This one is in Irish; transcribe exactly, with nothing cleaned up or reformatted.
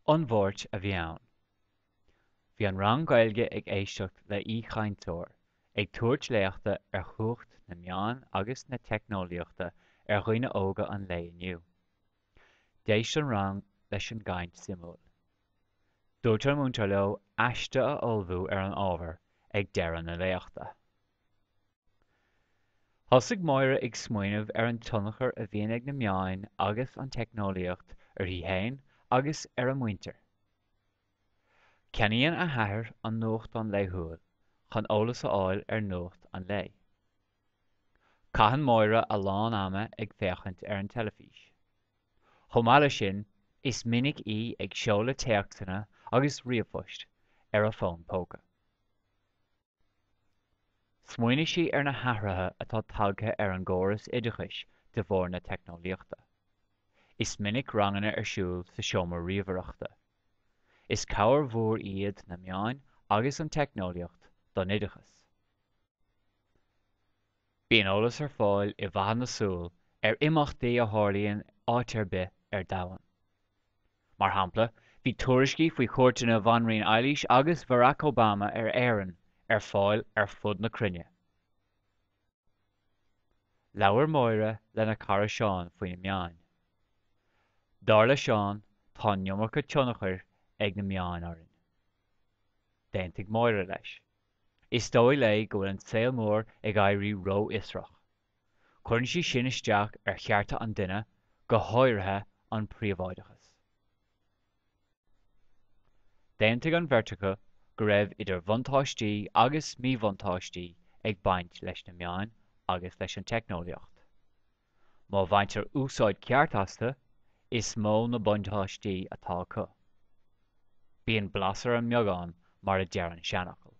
An Mháirt a bhí ann. Bhí an rang Gaeilge ag éisteacht le haoichainteoir ag tabhairt léachta ar chumhacht na meán agus na teicneolaíochta ar dhaoine óga an lae inniu. D'éist an rang leis an gcaint suimiúil. Dúirt an múinteoir leo aiste a ullmhú ar an ábhar ag deireadh na léachta. Thosaigh Máire ag smaoineamh ar an tionchar a bhíonn ag na meáin agus an teicneolaíocht uirthi féin agus ar a muintir. Ceannaíonn a hathair an nuachtán laethúil chun eolas a fháil ar nuacht an lae. Caitheann Máire a lán ama ag féachaint ar an teilifís. Chomh maith leis sin, is minic í ag seoladh téacsanna agus ríomhphoist ar a fón póca. Smaoinigh sí ar na hathruithe atá tagtha ar an gcóras oideachais de bharr na teicneolaíochta. Is minic ranganna ar siúl sa seomra ríomhaireachta. Is cabhair mhór iad na meáin agus an teicneolaíocht don oideachas. Bíonn eolas ar fáil i bhfathadh na súl ar imeachtaí a tharlaíonn áit ar bith ar domhan. Mar shampla, bhí tuairiscí faoi chuairteanna Bhanríon Eilís agus Barack Obama ar Éirinn ar fáil ar fud na cruinne. Labhair Máire lena cara Seán faoi na meáin. Dar le Seán, tá an iomarca tionchair ag na meáin orainn. D'aontaigh Máire leis. Is dóigh léi go bhfuil an saol mór ag éirí rófhiosrach. Cuireann sé sin isteach ar chearta an duine, go háirithe an príobháideachas. D'aontaigh an bheirt acu go raibh idir bhuntáistí agus míbhuntáistí ag baint leis na meáin agus leis an teicneolaíocht. Má bhaintear úsáid ceart astu, is mó na buntáistí atá acu. Bíonn blas ar an mbeagán mar a deir an seanfhocal.